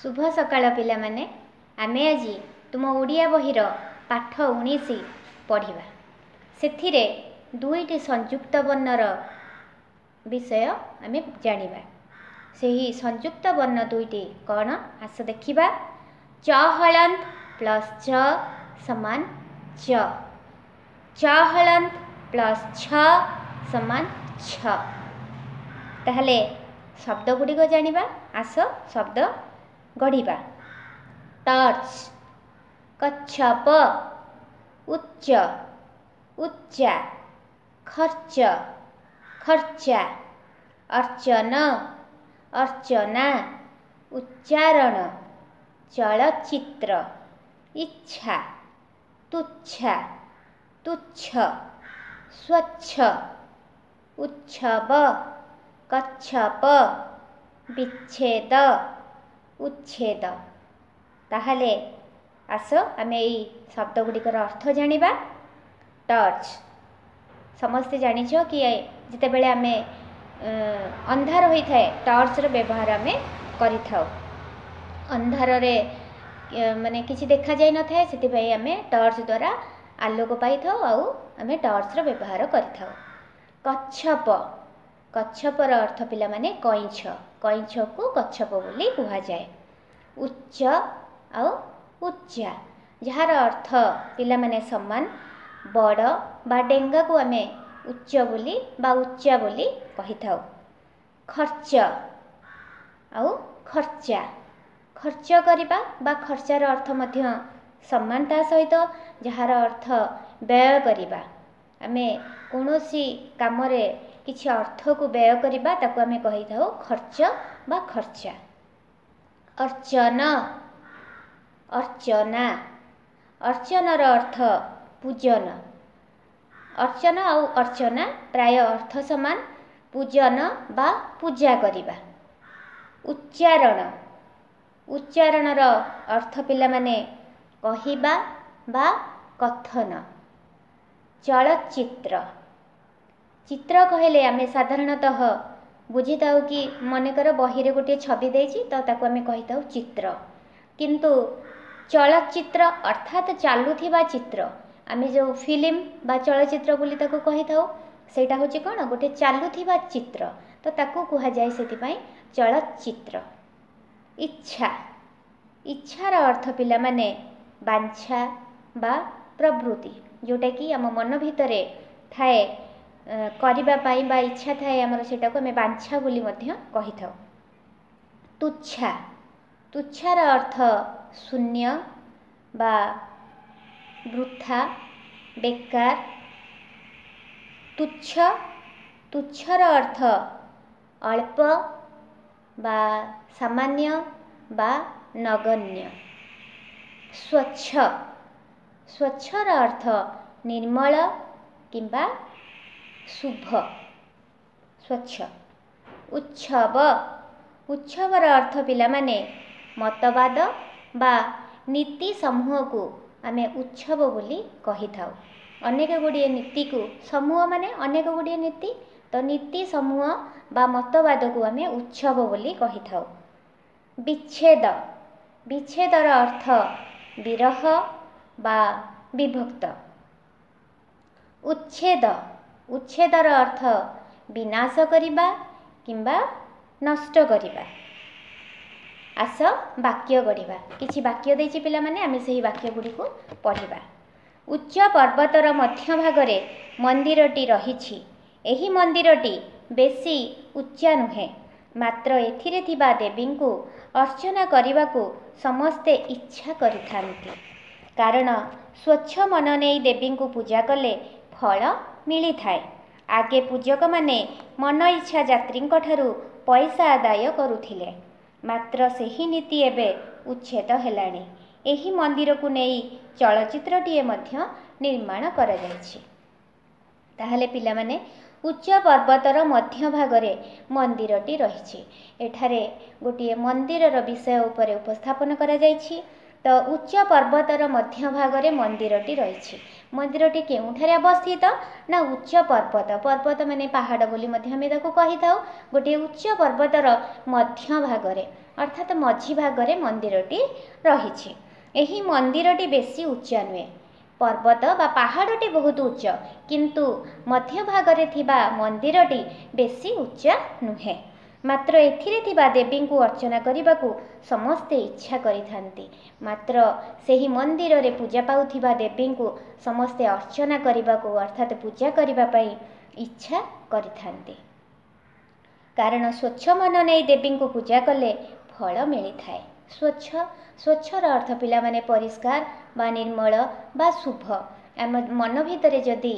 ଶୁଭ ସକାଳ ପିଲାମାନେ। ଆମେ ଆଜି ତୁମ ଓଡ଼ିଆ ବହିର ପାଠ 19 ପଢ଼ିବା। ସେଥିରେ ଦୁଇଟି ସଂଯୁକ୍ତ ବର୍ଣ୍ଣର ବିଷୟ ଆମେ ଜାଣିବା। ସେହି ସଂଯୁକ୍ତ ବର୍ଣ୍ଣ ଦୁଇଟି କ'ଣ, ଆସ ଦେଖିବା। ଚ ହଳନ୍ତ ପ୍ଲସ୍ ଚ ସମାନ ଚ, ଚ ହଳନ୍ତ ପ୍ଲସ୍ ଛ ସମାନ ଛ। ତାହେଲେ ଶବ୍ଦ ଗୁଡ଼ିକ ଜାଣିବା, ଆସ ଶବ୍ଦ ଗଢ଼ିବା। ଟର୍ଚ୍ଚ, କଚ୍ଛପ, ଉଚ୍ଚ, ଉଚ୍ଚା, ଖର୍ଚ୍ଚ, ଖର୍ଚ୍ଚା, ଅର୍ଚ୍ଚନ, ଅର୍ଚ୍ଚନା, ଉଚ୍ଚାରଣ, ଚଳଚ୍ଚିତ୍ର, ଇଚ୍ଛା, ତୁଚ୍ଛା, ତୁଚ୍ଛ, ସ୍ୱଚ୍ଛ, ଉତ୍ସବ, କଚ୍ଛପ, ବିଚ୍ଛେଦ, ଉଚ୍ଛେଦ। ତାହେଲେ ଆସ ଆମେ ଏଇ ଶବ୍ଦ ଗୁଡ଼ିକର ଅର୍ଥ ଜାଣିବା। ଟର୍ଚ୍ଚ ସମସ୍ତେ ଜାଣିଛ କି ଯେତେବେଳେ ଆମେ ଅନ୍ଧାର ହୋଇଥାଏ, ଟର୍ଚ୍ଚର ବ୍ୟବହାର ଆମେ କରିଥାଉ। ଅନ୍ଧାରରେ ମାନେ କିଛି ଦେଖାଯାଇନଥାଏ, ସେଥିପାଇଁ ଆମେ ଟର୍ଚ୍ଚ ଦ୍ୱାରା ଆଲୋକ ପାଇଥାଉ ଆଉ ଆମେ ଟର୍ଚ୍ଚର ବ୍ୟବହାର କରିଥାଉ। କଚ୍ଛପ, କଚ୍ଛପର ଅର୍ଥ ପିଲାମାନେ କଇଁଛ, କଇଁଛକୁ କଚ୍ଛପ ବୋଲି କୁହାଯାଏ। ଉଚ୍ଚ ଆଉ ଉଚ୍ଚା, ଯାହାର ଅର୍ଥ ପିଲାମାନେ ସମାନ, ବଡ଼ ବା ଡେଙ୍ଗାକୁ ଆମେ ଉଚ୍ଚ ବୋଲି ବା ଉଚ୍ଚା ବୋଲି କହିଥାଉ। ଖର୍ଚ୍ଚ ଆଉ ଖର୍ଚ୍ଚା, ଖର୍ଚ୍ଚ କରିବା ବା ଖର୍ଚ୍ଚାର ଅର୍ଥ ମଧ୍ୟ ସମାନ ତା ସହିତ, ଯାହାର ଅର୍ଥ ବ୍ୟୟ କରିବା। ଆମେ କୌଣସି କାମରେ କିଛି ଅର୍ଥକୁ ବ୍ୟୟ କରିବା, ତାକୁ ଆମେ କହିଥାଉ ଖର୍ଚ୍ଚ ବା ଖର୍ଚ୍ଚା। ଅର୍ଚ୍ଚନ, ଅର୍ଚ୍ଚନା, ଅର୍ଚ୍ଚନର ଅର୍ଥ ପୂଜନ। ଅର୍ଚ୍ଚନ ଆଉ ଅର୍ଚ୍ଚନା ପ୍ରାୟ ଅର୍ଥ ସମାନ, ପୂଜନ ବା ପୂଜା କରିବା। ଉଚ୍ଚାରଣ, ଉଚ୍ଚାରଣର ଅର୍ଥ ପିଲାମାନେ କହିବା ବା କଥନ। ଚଳଚ୍ଚିତ୍ର, ଚିତ୍ର କହିଲେ ଆମେ ସାଧାରଣତଃ ବୁଝିଥାଉ କି ମନେକର ବହିରେ ଗୋଟିଏ ଛବି ଦେଇଛି, ତ ତାକୁ ଆମେ କହିଥାଉ ଚିତ୍ର। କିନ୍ତୁ ଚଳଚ୍ଚିତ୍ର ଅର୍ଥାତ୍ ଚାଲୁଥିବା ଚିତ୍ର, ଆମେ ଯେଉଁ ଫିଲ୍ମ ବା ଚଳଚ୍ଚିତ୍ର ବୋଲି ତାକୁ କହିଥାଉ, ସେଇଟା ହେଉଛି କ'ଣ, ଗୋଟେ ଚାଲୁଥିବା ଚିତ୍ର, ତ ତାକୁ କୁହାଯାଏ ସେଥିପାଇଁ ଚଳଚ୍ଚିତ୍ର। ଇଚ୍ଛା, ଇଚ୍ଛାର ଅର୍ଥ ପିଲାମାନେ ବାଞ୍ଛା ବା ପ୍ରବୃତ୍ତି, ଯେଉଁଟାକି ଆମ ମନ ଭିତରେ ଥାଏ କରିବା ପାଇଁ ବା ଇଚ୍ଛା ଥାଏ ଆମର, ସେଇଟାକୁ ଆମେ ବାଞ୍ଛା ବୋଲି ମଧ୍ୟ କହିଥାଉ। ତୁଚ୍ଛା, ତୁଚ୍ଛାର ଅର୍ଥ ଶୂନ୍ୟ ବା ବୃଥା, ବେକାର। ତୁଚ୍ଛ, ତୁଚ୍ଛର ଅର୍ଥ ଅଳ୍ପ ବା ସାମାନ୍ୟ ବା ନଗଣ୍ୟ। ସ୍ୱଚ୍ଛ, ସ୍ୱଚ୍ଛର ଅର୍ଥ ନିର୍ମଳ କିମ୍ବା ଶୁଭ, ସ୍ୱଚ୍ଛ। ଉତ୍ସବ, ଉତ୍ସବର ଅର୍ଥ ପିଲାମାନେ ମତବାଦ ବା ନୀତି ସମୂହକୁ ଆମେ ଉତ୍ସବ ବୋଲି କହିଥାଉ। ଅନେକ ଗୁଡ଼ିଏ ନୀତିକୁ, ସମୂହ ମାନେ ଅନେକ ଗୁଡ଼ିଏ ନୀତି, ତ ନୀତି ସମୂହ ବା ମତବାଦକୁ ଆମେ ଉତ୍ସବ ବୋଲି କହିଥାଉ। ବିଚ୍ଛେଦ, ବିଚ୍ଛେଦର ଅର୍ଥ ବିରହ ବା ବିଭକ୍ତ। ଉଚ୍ଛେଦ, ଉଚ୍ଛେଦର ଅର୍ଥ ବିନାଶ କରିବା କିମ୍ବା ନଷ୍ଟ କରିବା। ଆସ ବାକ୍ୟ ଗଢ଼ିବା। କିଛି ବାକ୍ୟ ଦେଇଛି ପିଲାମାନେ, ଆମେ ସେହି ବାକ୍ୟ ଗୁଡ଼ିକୁ ପଢ଼ିବା। ଉଚ୍ଚ ପର୍ବତର ମଧ୍ୟଭାଗରେ ମନ୍ଦିରଟି ରହିଛି। ଏହି ମନ୍ଦିରଟି ବେଶୀ ଉଚ୍ଚା ନୁହେଁ, ମାତ୍ର ଏଥିରେ ଥିବା ଦେବୀଙ୍କୁ ଅର୍ଚ୍ଚନା କରିବାକୁ ସମସ୍ତେ ଇଚ୍ଛା କରିଥାନ୍ତି, କାରଣ ସ୍ୱଚ୍ଛ ମନ ନେଇ ଦେବୀଙ୍କୁ ପୂଜା କଲେ ଫଳ ମିଳିଥାଏ। ଆଗେ ପୂଜକମାନେ ମନ ଇଚ୍ଛା ଯାତ୍ରୀଙ୍କଠାରୁ ପଇସା ଆଦାୟ କରୁଥିଲେ, ମାତ୍ର ସେହି ନୀତି ଏବେ ଉଚ୍ଛେଦ ହେଲାଣି। ଏହି ମନ୍ଦିରକୁ ନେଇ ଚଳଚ୍ଚିତ୍ରଟିଏ ମଧ୍ୟ ନିର୍ମାଣ କରାଯାଇଛି। ତାହେଲେ ପିଲାମାନେ, ଉଚ୍ଚ ପର୍ବତର ମଧ୍ୟଭାଗରେ ମନ୍ଦିରଟି ରହିଛି। ଏଠାରେ ଗୋଟିଏ ମନ୍ଦିରର ବିଷୟ ଉପରେ ଉପସ୍ଥାପନ କରାଯାଇଛି। ତ ଉଚ୍ଚ ପର୍ବତର ମଧ୍ୟଭାଗରେ ମନ୍ଦିରଟି ରହିଛି। ମନ୍ଦିରଟି କେଉଁଠାରେ ଅବସ୍ଥିତ ନା ଉଚ୍ଚ ପର୍ବତ, ପର୍ବତ ମାନେ ପାହାଡ଼ ବୋଲି ମଧ୍ୟ ଆମେ ତାକୁ କହିଥାଉ, ଗୋଟିଏ ଉଚ୍ଚ ପର୍ବତର ମଧ୍ୟଭାଗରେ। ଅର୍ଥାତ୍ ମଝି ଭାଗରେ ମନ୍ଦିରଟି ରହିଛି। ଏହି ମନ୍ଦିରଟି ବେଶୀ ଉଚ୍ଚା ନୁହେଁ। ପର୍ବତ ବା ପାହାଡ଼ଟି ବହୁତ ଉଚ୍ଚ, କିନ୍ତୁ ମଧ୍ୟଭାଗରେ ଥିବା ମନ୍ଦିରଟି ବେଶୀ ଉଚ୍ଚା ନୁହେଁ। ମାତ୍ର ଏଥିରେ ଥିବା ଦେବୀଙ୍କୁ ଅର୍ଚ୍ଚନା କରିବାକୁ ସମସ୍ତେ ଇଚ୍ଛା କରିଥାନ୍ତି। ମାତ୍ର ସେହି ମନ୍ଦିରରେ ପୂଜା ପାଉଥିବା ଦେବୀଙ୍କୁ ସମସ୍ତେ ଅର୍ଚ୍ଚନା କରିବାକୁ, ଅର୍ଥାତ୍ ପୂଜା କରିବା ପାଇଁ ଇଚ୍ଛା କରିଥାନ୍ତି, କାରଣ ସ୍ୱଚ୍ଛ ମନ ନେଇ ଦେବୀଙ୍କୁ ପୂଜା କଲେ ଫଳ ମିଳିଥାଏ। ସ୍ୱଚ୍ଛ, ସ୍ୱଚ୍ଛର ଅର୍ଥ ପିଲାମାନେ ପରିଷ୍କାର ବା ନିର୍ମଳ ବା ଶୁଭ। ଆମ ମନ ଭିତରେ ଯଦି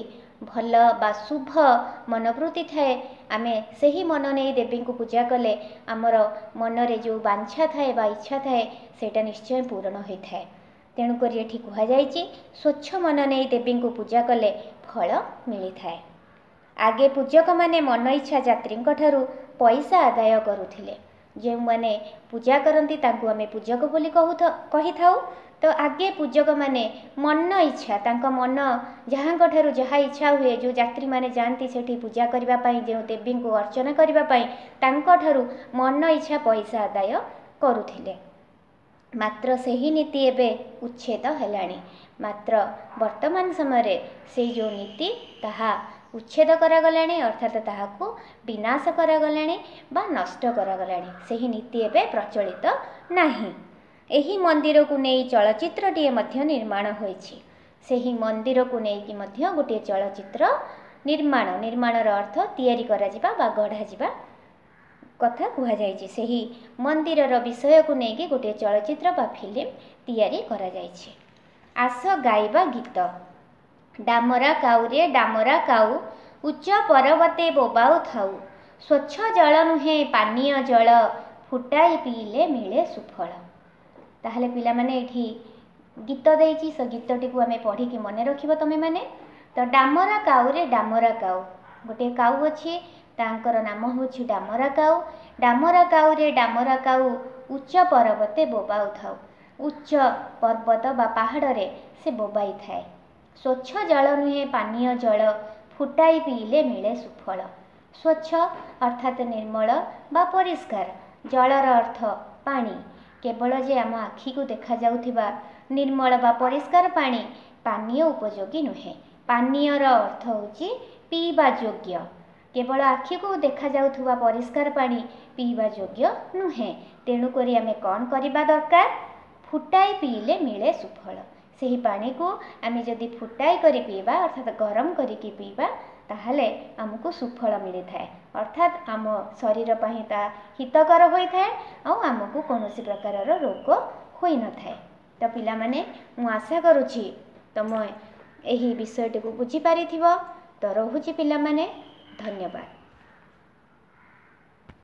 ଭଲ ବା ଶୁଭ ମନୋବୃତ୍ତି ଥାଏ, ଆମେ ସେହି ମନ ନେଇ ଦେବୀଙ୍କୁ ପୂଜା କଲେ ଆମର ମନରେ ଯେଉଁ ବାଞ୍ଛା ଥାଏ ବା ଇଚ୍ଛା ଥାଏ, ସେଇଟା ନିଶ୍ଚୟ ପୂରଣ ହୋଇଥାଏ। ତେଣୁକରି ଏଠି କୁହାଯାଇଛି, ସ୍ୱଚ୍ଛ ମନ ନେଇ ଦେବୀଙ୍କୁ ପୂଜା କଲେ ଫଳ ମିଳିଥାଏ। ଆଗେ ପୂଜକମାନେ ମନ ଇଚ୍ଛା ଯାତ୍ରୀଙ୍କ ଠାରୁ ପଇସା ଆଦାୟ କରୁଥିଲେ। ଯେଉଁମାନେ ପୂଜା କରନ୍ତି ତାଙ୍କୁ ଆମେ ପୂଜକ ବୋଲି କହିଥାଉ। ତ ଆଗେ ପୂଜକମାନେ ମନ ଇଚ୍ଛା, ତାଙ୍କ ମନ ଯାହାଙ୍କ ଠାରୁ ଯାହା ଇଚ୍ଛା ହୁଏ, ଯେଉଁ ଯାତ୍ରୀମାନେ ଯାଆନ୍ତି ସେଠି ପୂଜା କରିବା ପାଇଁ, ଯେଉଁ ଦେବୀଙ୍କୁ ଅର୍ଚ୍ଚନା କରିବା ପାଇଁ, ତାଙ୍କଠାରୁ ମନ ଇଚ୍ଛା ପଇସା ଆଦାୟ କରୁଥିଲେ। ମାତ୍ର ସେହି ନୀତି ଏବେ ଉଚ୍ଛେଦ ହେଲାଣି। ମାତ୍ର ବର୍ତ୍ତମାନ ସମୟରେ ସେଇ ଯେଉଁ ନୀତି ତାହା ଉଚ୍ଛେଦ କରାଗଲାଣି, ଅର୍ଥାତ୍ ତାହାକୁ ବିନାଶ କରାଗଲାଣି ବା ନଷ୍ଟ କରାଗଲାଣି। ସେହି ନୀତି ଏବେ ପ୍ରଚଳିତ ନାହିଁ। ଏହି ମନ୍ଦିରକୁ ନେଇ ଚଳଚ୍ଚିତ୍ରଟିଏ ମଧ୍ୟ ନିର୍ମାଣ ହୋଇଛି। ସେହି ମନ୍ଦିରକୁ ନେଇକି ମଧ୍ୟ ଗୋଟିଏ ଚଳଚ୍ଚିତ୍ର ନିର୍ମାଣ, ନିର୍ମାଣର ଅର୍ଥ ତିଆରି କରାଯିବା ବା ଗଢ଼ାଯିବା କଥା କୁହାଯାଇଛି। ସେହି ମନ୍ଦିରର ବିଷୟକୁ ନେଇକି ଗୋଟିଏ ଚଳଚ୍ଚିତ୍ର ବା ଫିଲ୍ମ ତିଆରି କରାଯାଇଛି। ଆସ ଗାଇବା ଗୀତ। ଡାମରା କାଉରେ ଡାମରା କାଉ, ଉଚ୍ଚ ପର୍ବତେ ବୋବାଉ ଥାଉ, ସ୍ୱଚ୍ଛ ଜଳ ନୁହେଁ ପାନୀୟ ଜଳ, ଫୁଟାଇ ପିଇଲେ ମିଳେ ସୁଫଳ। ତାହେଲେ ପିଲାମାନେ, ଏଇଠି ଗୀତ ଦେଇଛି, ସେ ଗୀତଟିକୁ ଆମେ ପଢ଼ିକି ମନେ ରଖିବ ତୁମେମାନେ। ତ ଡାମରା କାଉରେ ଡାମରା କାଉ, ଗୋଟିଏ କାଉ ଅଛି, ତାଙ୍କର ନାମ ହେଉଛି ଡାମରା କାଉ। ଡାମରା କାଉରେ ଡାମରା କାଉ, ଉଚ୍ଚ ପର୍ବତେ ବୋବାଉଥାଉ। ଉଚ୍ଚ ପର୍ବତ ବା ପାହାଡ଼ରେ ସେ ବୋବାଇଥାଏ। ସ୍ୱଚ୍ଛ ଜଳ ନୁହେଁ ପାନୀୟ ଜଳ, ଫୁଟାଇ ପିଇଲେ ମିଳେ ସୁଫଳ। ସ୍ୱଚ୍ଛ ଅର୍ଥାତ୍ ନିର୍ମଳ ବା ପରିଷ୍କାର, ଜଳର ଅର୍ଥ ପାଣି। କେବଳ ଯେ ଆମ ଆଖିକୁ ଦେଖାଯାଉଥିବା ନିର୍ମଳ ବା ପରିଷ୍କାର ପାଣି ପାନୀୟ ଉପଯୋଗୀ ନୁହେଁ। ପାନୀୟର ଅର୍ଥ ହେଉଛି ପିଇବା ଯୋଗ୍ୟ। କେବଳ ଆଖିକୁ ଦେଖାଯାଉଥିବା ପରିଷ୍କାର ପାଣି ପିଇବା ଯୋଗ୍ୟ ନୁହେଁ। ତେଣୁକରି ଆମେ କ'ଣ କରିବା ଦରକାର? ଫୁଟାଇ ପିଇଲେ ମିଳେ ସୁଫଳ। ସେହି ପାଣିକୁ ଆମେ ଯଦି ଫୁଟାଇ କରି ପିଇବା, ଅର୍ଥାତ୍ ଗରମ କରିକି ପିଇବା, ତାହେଲେ ଆମକୁ ସୁଫଳ ମିଳିଥାଏ, ଅର୍ଥାତ୍ ଆମ ଶରୀର ପାଇଁ ତା ହିତକର ହୋଇଥାଏ ଆଉ ଆମକୁ କୌଣସି ପ୍ରକାରର ରୋଗ ହୋଇନଥାଏ। ତ ପିଲାମାନେ, ମୁଁ ଆଶା କରୁଛି ତମ ଏହି ବିଷୟଟିକୁ ବୁଝିପାରିଥିବ। ତ ରହୁଛି ପିଲାମାନେ, ଧନ୍ୟବାଦ।